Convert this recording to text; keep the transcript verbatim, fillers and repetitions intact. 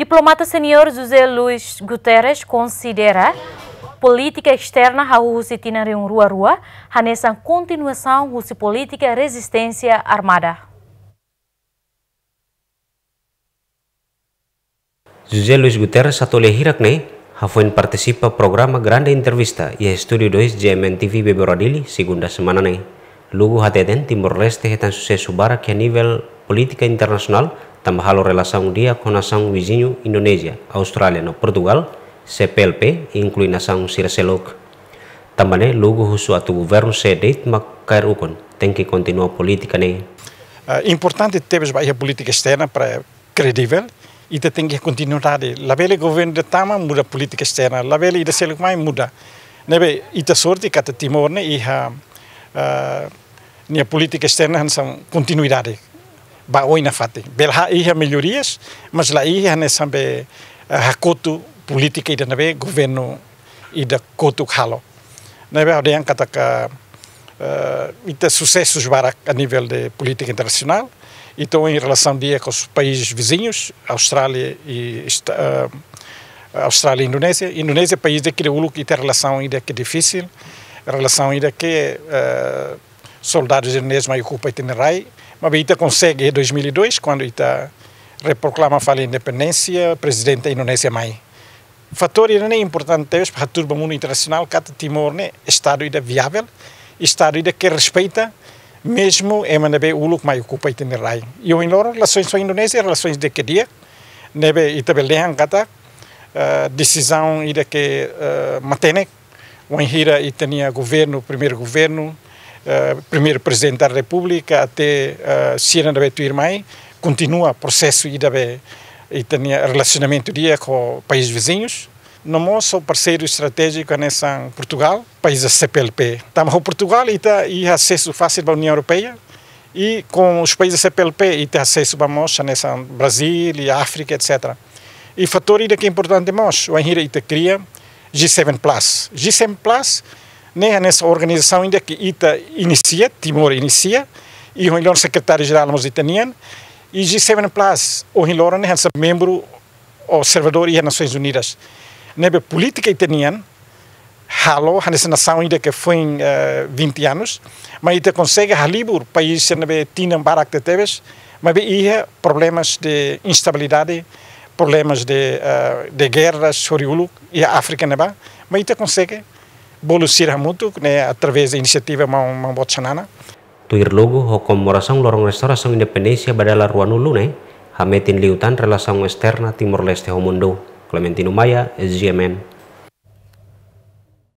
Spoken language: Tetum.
Diplomata seniór José Luis Guterres konsidera polítika esterna hahú husi tinan rihun rua rua hanesan kontinuasaun husi polítika rezisténsia armada. José Luis Guterres atu lia hirak ne'e hafoin partisipa programa Grande Entrevista iha Estúdiu dois G M N T V Bebora Dili, segunda semana ne'e. Lugu hateten Timor-Leste hetan susesu barak iha nivel polítika internasionál, tanba halo relasaun di'ak ho nasaun viziñu Indonézia, Austrália no Portugal, C P L P, inklui nasaun sira seluk. Tanba ne'e Lugu husu atu governu sé de'it mak kaer ukun, tenke kontinua polítika ne'e. Ah, importante tebes ba iha polítika esterna para kredivel, ita tenke kontinuidade. Labele governu ida tama muda polítika esterna, labele ida seluk mai muda. Ne'ebé ita sorte katak Timor ne'e iha, ah, nia polítika esterna hanesan kontinuidade ba oin nafatin. Bele iha mellorias, mas la iha hanesan be, ah, hakotu polítika ida ne'ebé governu ida kotuk halo. Ne'ebé ha'u dehan katak, eh, ita susesus barak a nivel de polítika internasionál. Ita ohin relasaun di'ak ho países viziñus, Austrália i esta-, eh, Austrália i Indonézia. Indonézia país ida ke uluk ita relasaun ida ke difisil, relasaun ida ke, eh, soldadus indonézius mai okupa ita-nia rai. Maibé ita konsege iha dois mil e dois, kuandu ita reproklama fali independénsia, prezidente Indonézia mai. Fatór ida ne'e importante tebes para hatudu ba mundu internasionál katak Timor ne'e estadu ida viável, estadu ida ke respeita mezmu ema ne'ebé uluk mai okupa ita-nia rai. I ohin loron relasaun ho Indonézia, relasaun ida ke di'ak, ne'ebé ita bele dehan katak, eh, desizaun ida ke, eh, matenek, wainhira ita-nia governu, primeiru governu, eh, primeiru prezidente da Repúblika, até, eh, sira ne'ebé tuirmai, kontinua prosesu ida be ita-nia relasionamentu di'ak ho país viziñus. No mós ho parseiru estratéjiku hanesan Portugal, país C P L P. Tanba ho Portugal ita iha asesu fasil ba Uniaun Europeia, i ho país C P L P ita asesu ba mós hanesan Brazíl i Áfrika, et cetera. I fatór ida ke importante mós, wainhira ita kria G seven plus. G seven plus ne'e hanesan organizasaun ida ke ita inisia, Timor inisia, i ohin loron sekretáriu jerál mós ita-nian, i G seven plus ohin loron ne'e hanesan membru observadór iha Nasoins Unidas. Ne'ebé polítika ita-nian halo hanesan nasaun ida ke foin, eh, vinte anos, maibé ita konsege halibur país ne'ebé tinan barak tebetebes, maibé iha problemas de instabilidade, problemas de, eh, de gerras, hori uluk, iha Áfrika ne'ebá, maibé ita konsege bolu sira hamutuk ne'e através de inisiativa maun, maun boot Xanana. Tuir Lugu, ho komemorasaun loron restaurasaun independénsia ba dala ruanulu ne'e, hametin liután relasaun esterna Timor-Leste ho mundu. Clementino Maia, S G M N.